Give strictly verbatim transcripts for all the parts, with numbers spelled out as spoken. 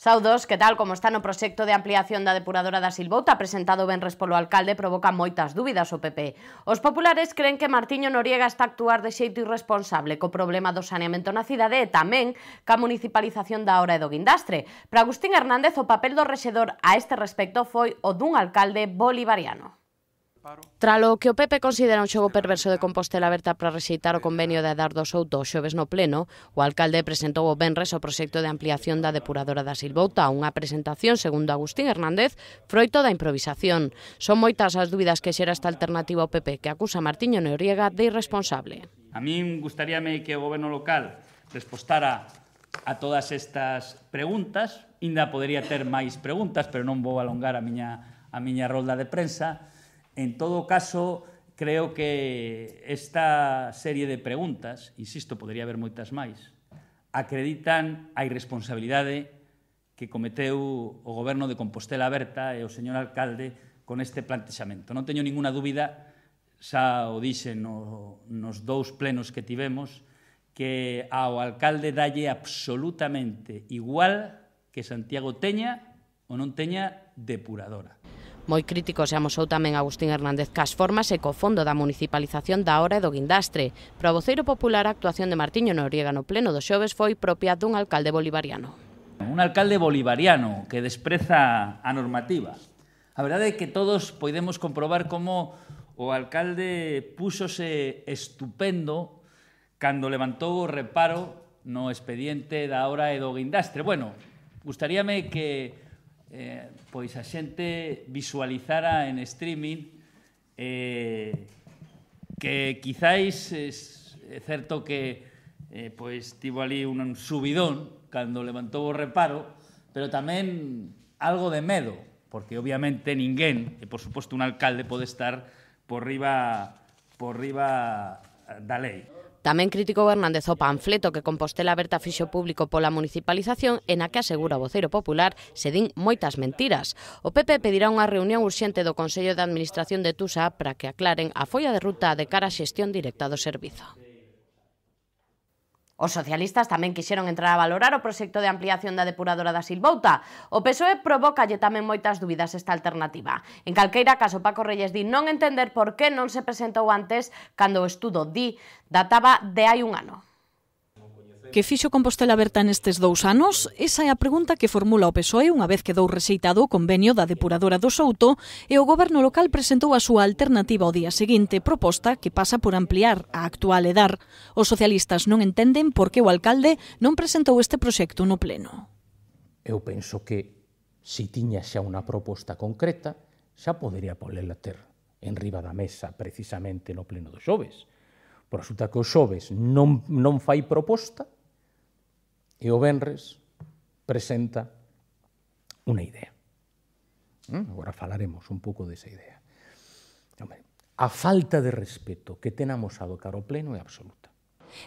Saudos, que tal como está no proxecto de ampliación da depuradora da Silvouta presentado venres polo alcalde provoca moitas dúbidas o P P. Os populares creen que Martiño Noriega está a actuar de xeito irresponsable co problema do saneamento na cidade e tamén ca municipalización da Hora e do Guindastre. Para Agustín Hernández, o papel do rexedor a este respecto foi o dun alcalde bolivariano. Tralo que o P P considera un xogo perverso de Compostela Aberta para rexeitar o convenio de Adardo Souto o xoves no pleno, o alcalde presentou o venres o proxecto de ampliación da depuradora da Silvouta, unha presentación, segundo Agustín Hernández, froito da improvisación. Son moitas as dúbidas que xera esta alternativa ao P P, que acusa Martiño Noriega de irresponsable. A min gustaríame que o goberno local respostara a todas estas preguntas, ainda podería ter máis preguntas, pero non vou alongar a miña, a miña rolda de prensa. En todo caso, creo que esta serie de preguntas, insisto, podría haber moitas máis, acreditan a irresponsabilidade que cometeu o goberno de Compostela Aberta e o señor alcalde con este plantexamento. Non teño ninguna dúbida, xa o dixen no, nos dous plenos que tivemos, que ao alcalde dalle absolutamente igual que Santiago teña ou non teña depuradora. Moi crítico se amosou tamén Agustín Hernández cas formas e co fondo da municipalización da Hora e do Guindastre. Para o voceiro popular, a actuación de Martiño Noriega no pleno do xoves foi propia dun alcalde bolivariano. Un alcalde bolivariano que despreza a normativa. A verdade é que todos podemos comprobar como o alcalde púxose estupendo cando levantou o reparo no expediente da Hora e do Guindastre. Bueno, gustaríame que Eh, pois a xente visualizara en streaming eh, que quizáis é certo que eh, pois tivo ali un subidón cando levantou o reparo, pero tamén algo de medo, porque obviamente ninguén, e por suposto un alcalde, pode estar por riba, por riba da lei. Tamén criticou Hernández o panfleto que Compostela Aberta fixo público pola municipalización e na que asegura o voceiro popular se din moitas mentiras. O P P pedirá unha reunión urxente do Consello de Administración de Tusa para que aclaren a folla de ruta de cara á xestión directa do servizo. Os socialistas tamén quixeron entrar a valorar o proxecto de ampliación da depuradora da Silvouta. O P S O E provocalle tamén moitas dúbidas esta alternativa. En calqueira caso, Paco Reyes di non entender por que non se presentou antes cando o estudo di databa de hai un ano. Que fixo Compostela Aberta nestes dous anos? Esa é a pregunta que formula o P S O E unha vez quedou rexeitado o convenio da depuradora do Souto e o goberno local presentou a súa alternativa ao día seguinte, proposta que pasa por ampliar a actual EDAR. Os socialistas non entenden por que o alcalde non presentou este proxecto no pleno. Eu penso que, se tiña xa unha proposta concreta, xa podería polela ter en riba da mesa precisamente no pleno do xoves. Por resulta que o xoves non, non fai proposta, e o venres presenta unha idea. Agora falaremos un pouco desa idea. A falta de respeto que ten amosado cara ao pleno é absoluta.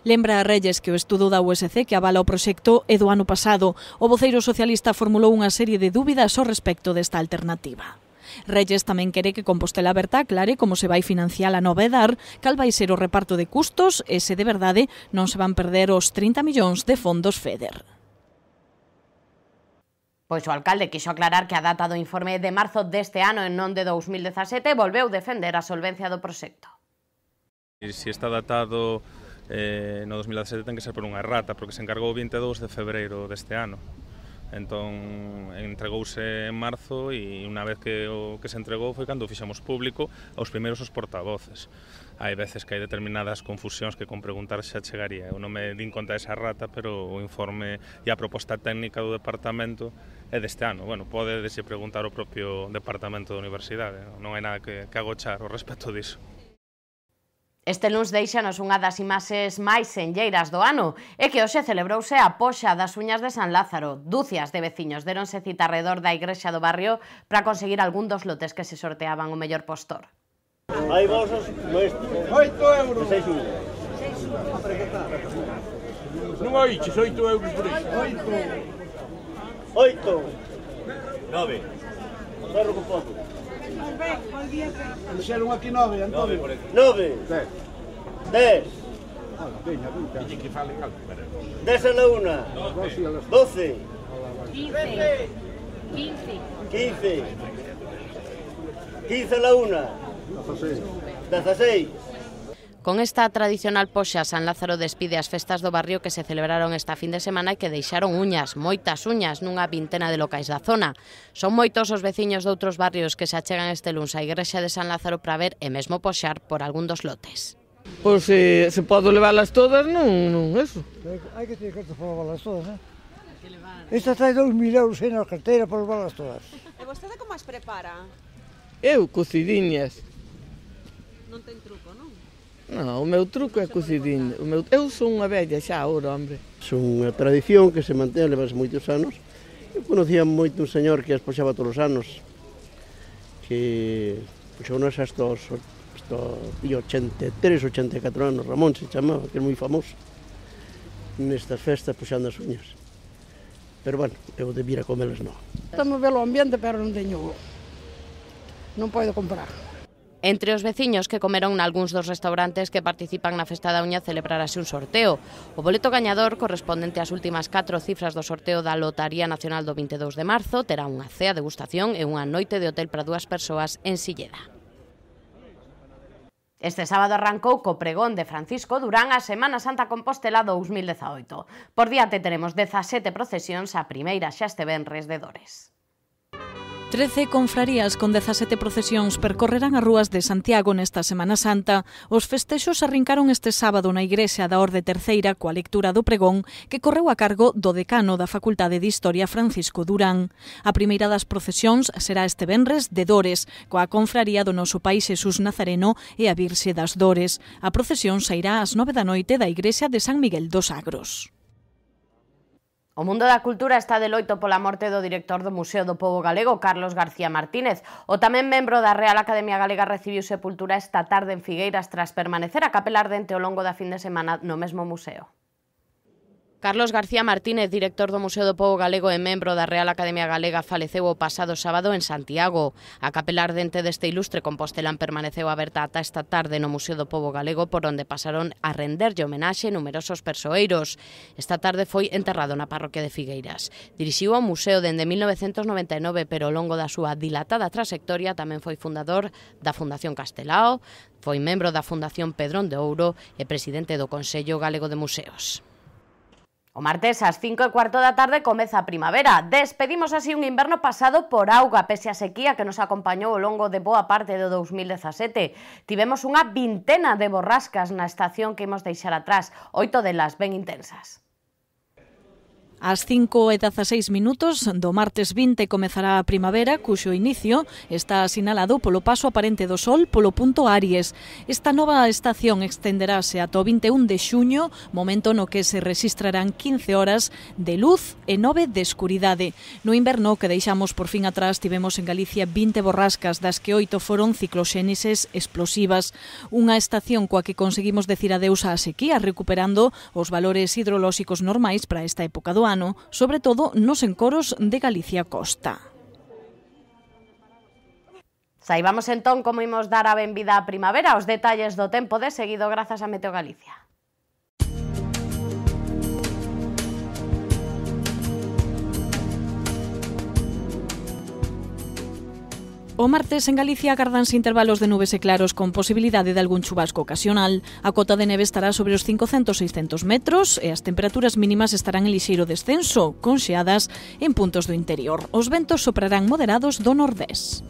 Lembra a Reyes que o estudo da U S C que avala o proxecto é do ano pasado. O voceiro socialista formulou unha serie de dúbidas ao respecto desta alternativa. Reyes tamén quere que Compostela Aberta aclare como se vai financiar a nova EDAR, cal vai ser o reparto de custos e se de verdade non se van perder os trinta millóns de fondos FEDER. Pois o alcalde quixo aclarar que a data do informe de marzo deste ano e non de dous mil dezasete volveu defender a solvencia do proxecto. Se está datado eh, no dos mil dezasete ten que ser por unha errata, porque se encargou o vinte e dous de febreiro deste ano. Entón, entregouse en marzo e unha vez que o que se entregou foi cando o fixemos público aos primeiros os portavoces. Hai veces que hai determinadas confusións que con preguntar xa chegaría. Eu non me din conta desa rata, pero o informe e a proposta técnica do departamento é deste ano. Bueno, pode dese preguntar o propio departamento da universidade. Non hai nada que, que agochar ao respecto diso. Este luns deixanos unha das imaxes máis senlleiras do ano e que hoxe celebrouse a poxa das uñas de San Lázaro. Dúcias de veciños deronse cita arredor da igrexa do barrio para conseguir algún dos lotes que se sorteaban o mellor postor. Hai bolsas nuestros. oito euros. seis unhas. Non oiches, oito euros por iso. oito. oito. nove. Cerro con pouco. Fixeron aquí nove, Antonio. nove. dez. Veña, veña. Que falen algo, pero... dez a la una. doce. quince. quince. quince la una. dieciséis. Con esta tradicional poxa, San Lázaro despide as festas do barrio que se celebraron esta fin de semana e que deixaron uñas, moitas uñas, nunha vintena de locais da zona. Son moitos os veciños de outros barrios que se achegan este luns á igrexa de San Lázaro para ver e mesmo poxar por algún dos lotes. Pois se, se podo leválas todas, non, non, eso. Hai que ter cartas para leválas todas, eh? Esta trae dous mil euros na carteira para leválas todas. E vostede como as prepara? Eu, cocidiñas. Non ten truco, non? Non, o meu truco é cocidinho. O meu... Eu sou unha vella xa agora, hombre. Son unha tradición que se mantén levas moitos anos. Eu conocía moito un señor que as poxaba todos os anos, que poxounos hasta os ochenta e tres, ochenta e catro anos, Ramón se chamaba, que é moi famoso nestas festas poxando as uñas. Pero, bueno, eu debira comelas non. Estamos velo ambiente, pero non teño... non podo comprar. Entre os veciños que comeron nalgúns dos restaurantes que participan na Festa da Uña celebrarase un sorteo. O boleto gañador, correspondente ás últimas catro cifras do sorteo da Lotaría Nacional do vinte e dous de marzo, terá unha cea degustación e unha noite de hotel para dúas persoas en Silleda. Este sábado arrancou co pregón de Francisco Durán a Semana Santa Compostela dous mil dezaoito. Por diante teremos dezasete procesións, a primeira xa este venres de Dores. trece confrarías con dezasete procesións percorrerán as rúas de Santiago nesta Semana Santa. Os festexos arrincaron este sábado na Igrexa da Orde Terceira coa lectura do pregón que correu a cargo do decano da Facultade de Historia, Francisco Durán. A primeira das procesións será este venres de Dores, coa confraría do Noso Pai Xesús Nazareno e a Virxe das Dores. A procesión sairá ás nove da noite da Igrexa de San Miguel dos Agros. O mundo da cultura está de loito pola morte do director do Museo do Pobo Galego, Carlos García Martínez. O tamén membro da Real Academia Galega recibiu sepultura esta tarde en Figueiras tras permanecer a capela ardente ao longo da fin de semana no mesmo museo. Carlos García Martínez, director do Museo do Pobo Galego e membro da Real Academia Galega, faleceu o pasado sábado en Santiago. A capela ardente deste ilustre compostelán permaneceu aberta ata esta tarde no Museo do Pobo Galego, por onde pasaron a renderlle homenaxe numerosos persoeiros. Esta tarde foi enterrado na parroquia de Figueiras. Dirixiu ao museo dende mil novecentos noventa e nove, pero ao longo da súa dilatada trayectoria tamén foi fundador da Fundación Castelao, foi membro da Fundación Pedrón de Ouro e presidente do Consello Galego de Museos. O martes ás cinco e cuarto da tarde comeza a primavera. Despedimos así un inverno pasado por auga, pese a sequía que nos acompañou ao longo de boa parte do dous mil dezasete. Tivemos unha vintena de borrascas na estación que imos deixar atrás, oito delas ben intensas. Ás cinco e dezaseis minutos do martes vinte comezará a primavera, cuxo inicio está asinalado polo paso aparente do Sol polo punto Aries. Esta nova estación extenderase ata o vinte e un de xuño, momento no que se registrarán quince horas de luz e nove de escuridade. No inverno que deixamos por fin atrás tivemos en Galicia vinte borrascas, das que oito foron cicloxénises explosivas. Unha estación coa que conseguimos decir adeus á sequía, recuperando os valores hidrolóxicos normais para esta época do ano, sobre todo nos encoros de Galicia Costa. Saibamos entón como imos dar a benvida á primavera, os detalles do tempo de seguido grazas a Meteo Galicia. O martes en Galicia agardanse intervalos de nubes e claros con posibilidade de algún chubasco ocasional. A cota de neve estará sobre os cincocentos a seiscentos metros e as temperaturas mínimas estarán en lixeiro descenso, con xeadas en puntos do interior. Os ventos soprarán moderados do nordés.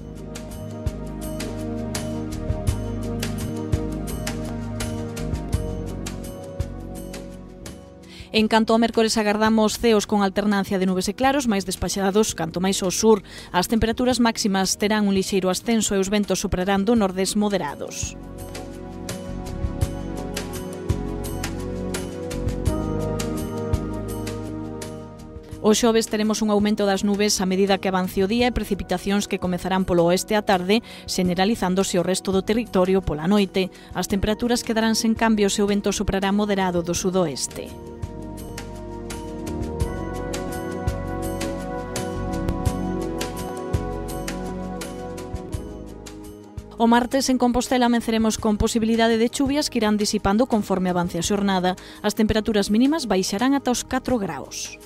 En canto ao mércores agardamos ceos con alternancia de nubes e claros, máis despaxados canto máis ao sur. As temperaturas máximas terán un lixeiro ascenso e os ventos soprarán do nordés moderados. O xoves teremos un aumento das nubes a medida que avance o día e precipitacións que comezarán polo oeste á tarde, generalizándose o resto do territorio pola noite. As temperaturas quedarán sen cambios e o vento soprará moderado do sudoeste. O martes en Compostela amenceremos con posibilidade de chuvias que irán disipando conforme avance a xornada. As temperaturas mínimas baixarán ata os catro graus.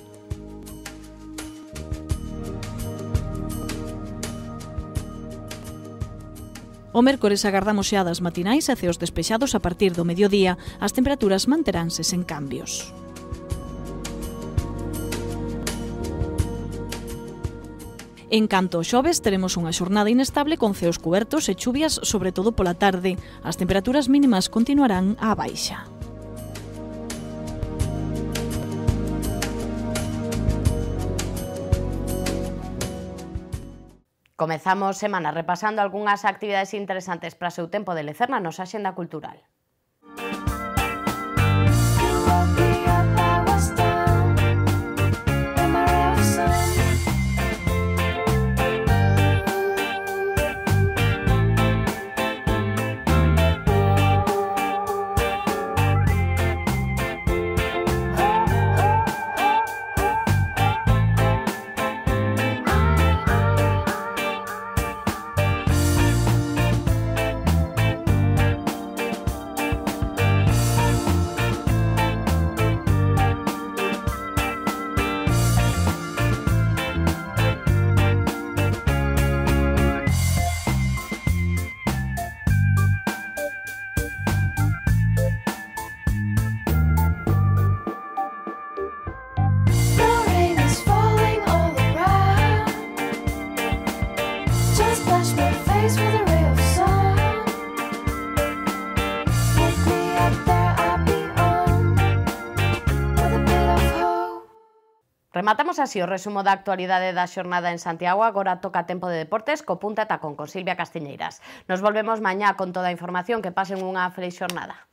O mércores agardamos xeadas matinais e ceos despexados a partir do mediodía. As temperaturas manteránse sen cambios. En canto ao xoves, teremos unha xornada inestable con ceos cubertos e chuvias, sobre todo pola tarde. As temperaturas mínimas continuarán á baixa. Comezamos semana repasando algunhas actividades interesantes para o seu tempo de lecer na nosa axenda cultural. Rematamos así o resumo da actualidade da xornada en Santiago. Agora toca tempo de deportes co Punta Tacón con Silvia Castiñeiras. Nos volvemos mañá con toda a información. Que pasen unha feliz xornada.